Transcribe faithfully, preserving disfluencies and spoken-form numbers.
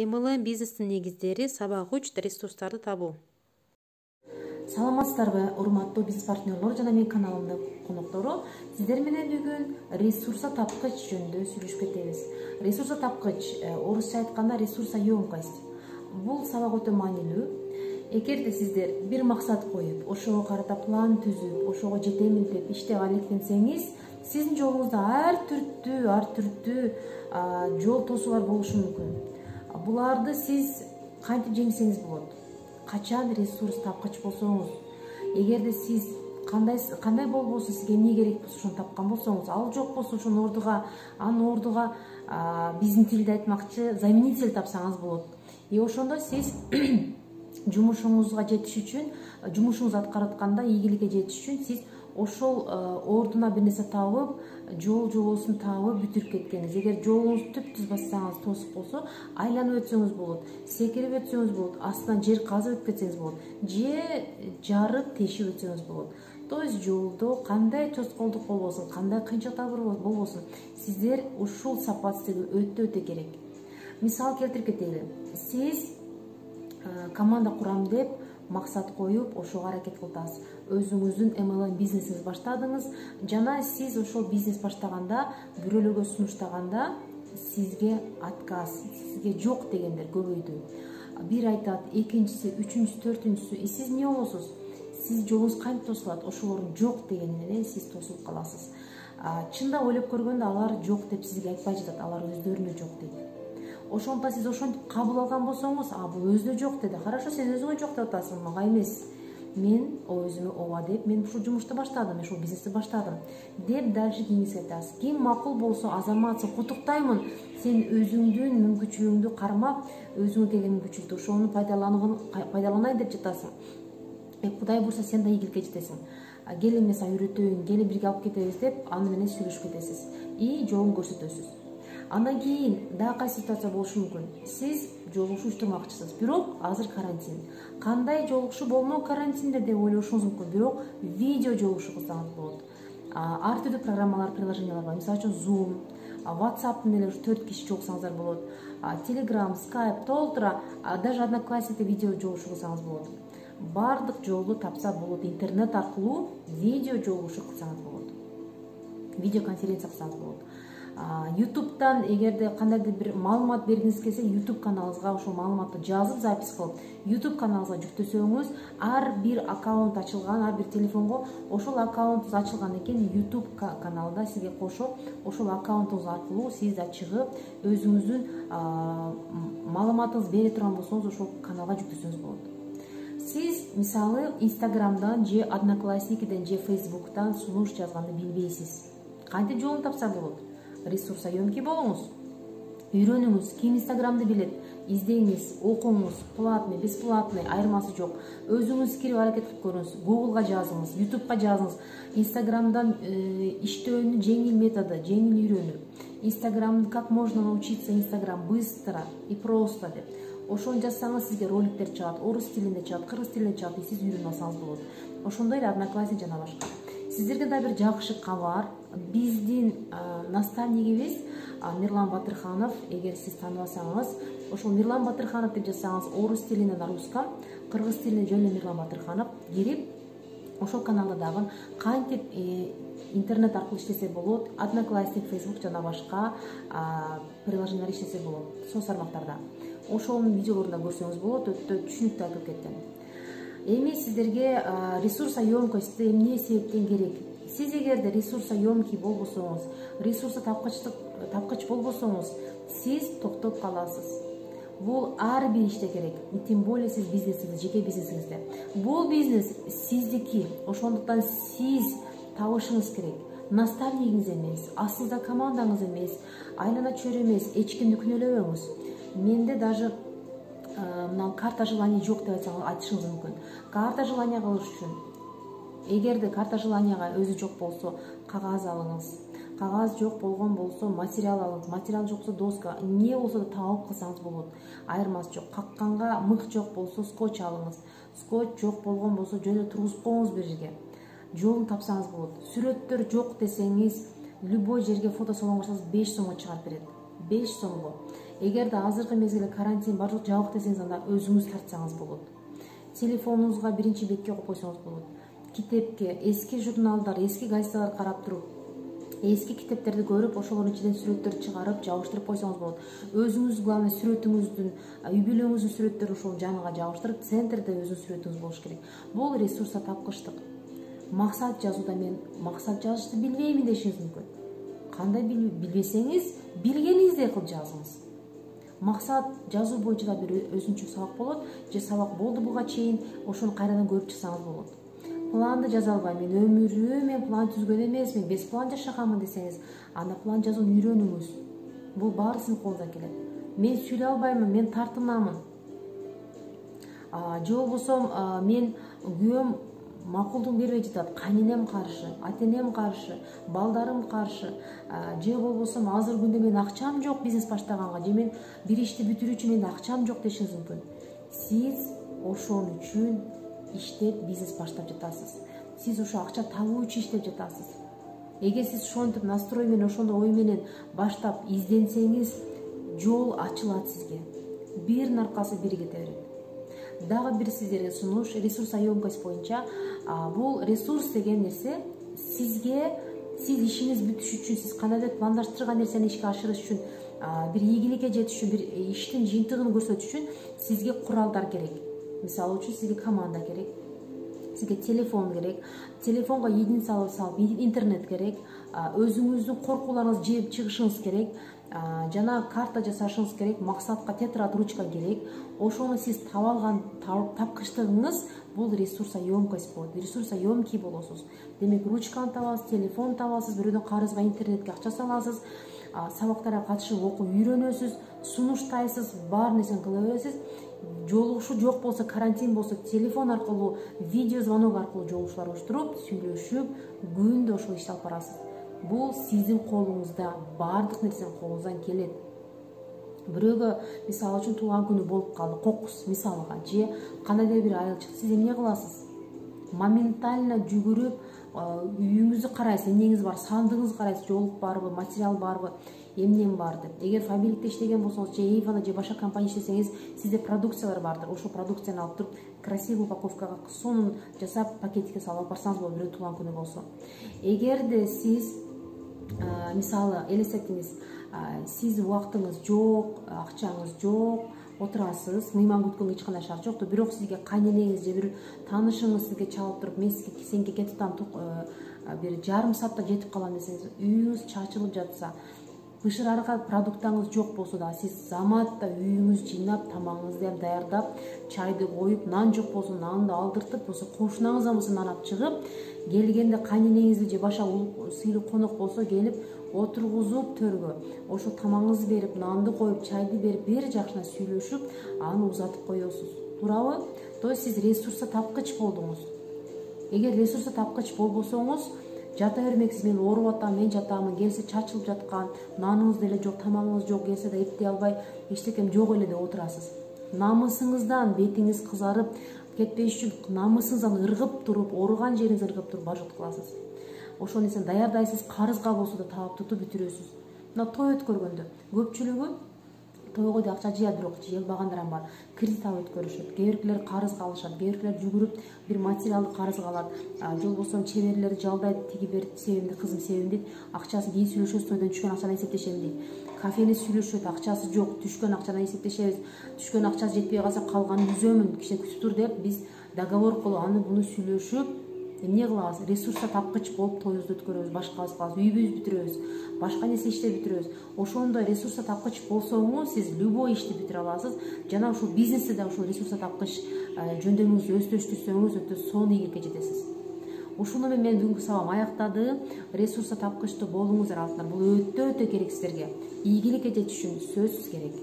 эм эл эм бизнестин негиздери сабак үч ресурстарды табуу. Саламатсыздарбы, урматтуу бизнес партнерлор жана менин каналымдын коноктору. Сиздер менен бүгүн ресурса тапкыч жөнүндө сүйлөшүп кетебиз. Ресурса тапкыч, орусча айтканда ресурса ёмкость. Бул сабак өтө маанилүү. Эгерде сиздер бир максат коюп, ошого карата план түзүп, ошого жетемин деп иштеп алектенсеңиз, сиздин жолуңузда ар түрдүү, ар түрдүү жол тосуулар болушу мүмкүн. Буларды сиз кантип жеңсеңиз болот? Качан ресурс тапкыч болсоңуз, эгерде сиз кандай кандай болбосун, сизге эмне керек болсо ошону тапкан болсоңуз, ал жок болсо ошонун ордуга, анын ордуга биздин тилде айтмакчы заменитель тапсаңыз болот. И ошондо сиз жумушуңузга жетиш үчүн, жумушуңузду аткарып атканда ийгиликке жетиш үчүн сиз ошол ордуна бир нерсе табып, жол жобосун табып бүтүрүп кеткениз. Эгер жолуңузду түп-түз бассаңыз, тосук болсо, айланып өтсөңүз болот, секирип өтсөңүз болот, астынан жер казып өтүп кетсеңиз болот, же жарып тешип өтсөңүз болот. То есть жолдо кандай тоскоолдук болбосун, кандай кыйынчылыктар болбосун, сиздер ушул сапатсыздыгы өтө-өтө керек. Мисал келтирип кетели. Сиз команда курам деп максат коюп, ошого аракет кыласыз. Өзүңүздүн эм эл эм бизнесиңизди баштадыңыз, жана сиз ошол бизнес баштаганда, бирөөлөргө сунуштаганда сизге отказ, сизге жок дегендер көбөйдү. Бир айтат, экинчиси, үчүнчүсү, төртүнчүсү. И сиз эмне болосуз? Сиз жолуңуз кантип тосулат? Ошолордун жок дегени менен сиз тосулуп каласыз. Чындап ойлоп көргөндө алар жок деп сизге айтпай жатат, алар өздөрүнө жок дейт. Ошондо сиз ошентип кабыл алган болсоңуз, а бул өзүнө жок деди. Хорошо, сен өзүңө жок деп атасың, мага эмес. Мен өзүмө ооба деп, мен ушул жумушту баштадым, мен ушул бизнести баштадым деп дальше кеңес айтасыз. Ким макул болсо, азамат, сен куттуктаймын. Сен өзүңдүн мүмкүнчүлүгүңдү кармап, өзүңө келген мүмкүнчүлүктү ошону пайдаланайын деп жатасың. Э, Кудай бурса сен да ийгиликке жетесиң. Кел мен сага үйрөтөйүн, кел бирге алып кетебиз деп аны менен сүйлөшүп кетесиз и жолун көрсөтөсүз. Андан кийин дагы кайсы ситуация болушу мүмкүн. Сиз жолугушуу учтурмакчысыз, бирок азыр карантин. Кандай жолугушуу болмок карантинде деп ойлошуңуз мүмкүн, бирок видео жолугушуу кылсаңыз болот. Ар түрдүү программалар, приложениялар бар. Мисалы үчүн Zoom, WhatsApp-тын эле төрт киши жолуксаңыздар болот. Telegram, Skype, толтура, даже Одноклассникте видео жолугушуу кылсаңыз болот. Бардык жолду тапса болот. Интернет аркылуу видео жолугушуу кылсаңыз болот. Видео конференция кылсаңыз болот. YouTube'дан эгерде кандайдыр бир маалымат бергиңиз келсе, YouTube каналыңызга ошол маалыматты жазып, запись кылып, YouTube каналыңызга жүктөсөңүз, ар бир аккаунт ачылган, ар бир телефонго ошол аккаунтуңуз ачылгандан кийин YouTube каналында сизге кошо, ошол аккаунтуңуз аркылуу сиз да чыгып, өзүңүздүн маалыматыңызды бере турган болсоңуз, ошол каналга жүктөсөңүз болот. Сиз мисалы Instagram'дан же Одноклассникиден же Facebook'тан сунуш жазганды билбейсиз. Кантип жолун тапса болот? Ресурса ёмкий болуңуз. Үйрөнүңүз, ким Инстаграмды билет, издеңиз, окуңуз, платный, бесплатный, айырмасы жок. Өзүңүз кирип аракет кылып көрүңүз, Google'га жазыңыз, YouTube'га жазыңыз. Инстаграмдан иштөөнүн жеңил методу, жеңил үйрөнүү. Инстаграм, как можно научиться Инстаграм быстро и просто деп. Ошону жазсаңыз сизге роликтер чыгат, орус тилинде чыгат, кыргыз тилинде чыгат, и сиз үйрөнүп алсаңыз болот. Ошондой эле Одноклассник жана башка. Сиздерге да бир жакшы кабар. Биздин наставнигибиз Мирлан Батырханов, эгер сиз тааныбасаңыз, ошол Мирлан Батырханов деп жазсаңыз, орус тилинен на русском, кыргыз тилинен жөн Мирлан Батырханов кирип, ошол каналда дагы кантип интернет аркылуу иштесе болот, Одноклассник, Facebook жана башка приложениялар иштесе болот, соц тармактарда. Ошонун видеолорун да көрсөңүз болот, өтө түшүнүктүү айтып кеткен. Эми сиздерге ресурса ёмкости эмне себептен керек? Сиз эгерде ресурса ёмкий болбосоңуз, ресурса тапкычтык тапкыч болбосоңуз, сиз токтоп каласыз. Бул ар бир иште керек. Тем более сиз бизнесиңиз, жеке бизнесиңизде. Бул бизнес сиздики. Ошондуктан сиз табышыңыз керек. Наставнигиңиз эмес, астыңызда командаңыз эмес, айлана чөйрө эмес, эч кимди күнөөлөбөңүз. Менде даже мына карта желания жок деп айтсаңыз, айтышыңыз мүмкүн. Карта желания кылыш үчүн эгерде карта желанияга өзү жок болсо, кагаз алыңыз. Кагаз жок болгон болсо, материал алыңыз. Материал жоксо, доска, эмне болсо да табып кылсаңыз болот. Айырмасы жок. Какканга мык жок болсо, скотч алыңыз. Скотч жок болгон болсо, жөн эле тургузуп коюңуз бир жерге. Жолун тапсаңыз болот. Сүрөттөр жок десеңиз, любой жерге фото салонго барсаңыз беш сомго чыгарып берет. беш сомго. Эгерде азыркы мезгилде карантин бар жок, жабык десеңиз, анда өзүңүз тартсаңыз болот. Телефонуңузга биринчи бетке коюп койсоңуз болот. Китепке, эски журналдар, эски газеталар карап туруп, эски китептерди көрүп, ошолордун ичинен сүрөттөрдү чыгарып, жабыштырып койсоңуз болот. Өзүңүз, главное, сүрөтүңүздүн, үй бүлөңүздүн сүрөттөрүн ошол жаныга жабыштырып, центрде өзүнүн сүрөтүңүз болуш керек. Бул ресурска тапкычтык. Максат жазууда мен максат жазышты билбеймин дешиңиз мүмкүн. Кандай билбесеңиз, билгениңиздей кылып жазыңыз. Максат жазуу боюнча да бир өзүнчө сабак болот, же сабак болду буга чейин, ошону кайрадан көрүп чыксаңыз болот. Планды жаза албайм, мен өмүрүм мен план түзгөн эмесмин, без план жашаганмын десеңиз, анда план жазууну үйрөнүңүз. Бул баары сиздин колуңуздан келет. Мен сүйлөй албаймын, мен тартынамын. Же болбосо мен күйөөм макулдук бербей жатат, кайненем каршы, ата энем каршы, балдарым каршы, же болбосо азыр күндө мен акчам жок бизнес баштаганга, же мен бир ишти бүтүрүү үчүн менде акчам жок дешиңиз мүмкүн. Сиз ошон үчүн иштеп бизнес баштап жатасыз. Сиз ошо акча табуу үчүн иштеп жатасыз. Эгер сиз ошентип настрой менен, ошондой ой менен баштап изденсеңиз, жол ачылат сизге. Биринин аркасы бири кете берет. Дагы бир сиздерге сунуш, ресурсоемкость боюнча. Бул ресурс деген нерсе сизге, сиз ишиңиз бүтүш үчүн, сиз кандайдыр пландаштырган нерсени ишке ашырыш үчүн, бир ийгиликке жетиш үчүн, бир иштин жыйынтыгын көрсөтүш үчүн сизге куралдар керек. Мисалы үчүн сизге команда керек, сизге телефон керек, телефонго единица алып салып, интернет керек, өзүңүздүн коркууларыңызды жеп чыгышыңыз керек, жана карта жасашыңыз керек, максатка тетрадь, ручка керек. Ошону сиз таба алган тапкычтыгыңыз бул ресурсоемкость болот. Ресурсоемкий болосуз. Демек, ручканы табасыз, телефон табасыз, бирөөдөн карызга, интернетке акча саласыз, сабактарга катышып окуп үйрөнөсүз, сунуштайсыз, баар нерсени кыла бересиз. Жолугушуу жок болсо, карантин болсо, телефон аркылуу, видео звонок аркылуу жолугушуулар уюштуруп, сүйлөшүп, күндө ошол ишти алып барасыз. Бул сиздин колуңузда, баардык нерсе колуңуздан келет. Бирөөгө мисалы үчүн туулган күнү болуп калды, кокус мисалга, же кандайдыр бир айыл чыкты, сиз эмне кыласыз? Моментально жүгүрүп, үйүңүздү карайсыз, эмнеңиз бар, сандыгыңызды карайсыз, жолук барбы, материал барбы, эмнем бар деп. Эгер фабрикте иштеген болсоңуз, же Эйвона, же башка компания иштесеңиз, сизде продукциялар бардыр. Ошол продукцияны алып туруп, красивый упаковкага сонун жасап, пакетикке салып алып барсаңыз болот, бирөө туулган күнү болсо. Эгерде сиз мисалы элестетиңиз, сиз убактыңыз жок, акчаңыз жок, отурасыз, мыйман күткөнгө эч кандай шарт жок, бирок сизге кайненеңиз же бир таанышыңыз сизге чалып туруп, мен сизге сенге кетип атам, бир жарым саатта жетип калам десеңиз, үйүңүз чачылып жатса, бышырарга продуктаңыз жок болсо да, сиз заматта үйүңүздү жыйнап, тамагыңызды даярдап, чайды коюп, нан жок болсо нанды алдыртып, болсо кошунаңыздан болсо нан алып чыгып, келгенде кайненеңизди же башка сыйлуу конок болсо келип отургузуп төргө, ошо тамагыңызды берип, нанды коюп, чайды берип, бир жакшына сүйлөшүп, аны узатып коесуз. Туурабы? То есть сиз ресурса тапкыч болдуңуз. Эгер ресурса тапкыч болбосоңуз, жата бермексиз, мен ооруп атам, мен жатамын, келсе чачылып жаткан, наныңыз деле жок, тамагыңыз жок, келсе да эптей албай, эчтекем жок эле деп отурасыз. Намысыңыздан бетиңиз кызарып кетпеш үчүн, намысыңыздан ыргып туруп, ооруган жериңиз ыргып туруп бажот кыласыз. Ошол нерсени даярдайсыз, карызга болсо да таап тутуп бүтүрөсүз. Мына той өткөргөндө көпчүлүгү тойго да акча жыят, бирок жыялбагандар бар. Кредит алып өткөрүшөт. Кээ биркилер карызга алышат, кээ биркилер жүгүрүп бир материалды карызга алат. Жол болсо чеберлер жалдайт, тиги бер себимди, кызым себим дейт. Акчасын кийин сүйлөшөбүз, тойдон түшкөн акчадан эсептешем дейт. Кафени сүйлөшөт, акчасы жок, түшкөн акчадан эсептешебиз. Түшкөн акчасы жетпей калса калганын үзөмүн, кичине күтүп тур деп биз договор кылып, аны буну сүйлөшүп, эмне кылабыз? Ресурска тапкыч болуп тоюбузду өткөрөбүз, башкабыз кылабыз, үйүбүздү бүтүрөбүз, башка нерсе иштеп бүтүрөбүз. Ошондой ресурска тапкыч болсоңуз, сиз любой ишти бүтүрө аласыз. Жана ушул бизнесте да ушул ресурска тапкыч жөндөмүңүздү өздөштүрсөңүз, өтө сонун ийгиликке жетесиз. Ушуну менен мен бүгүнкү сабагым аяктады. Ресурска тапкычтуу болуңуздар алтындар. Бул өтө өтө керек сиздерге. Ийгиликке жетиш үчүн сөзсүз керек.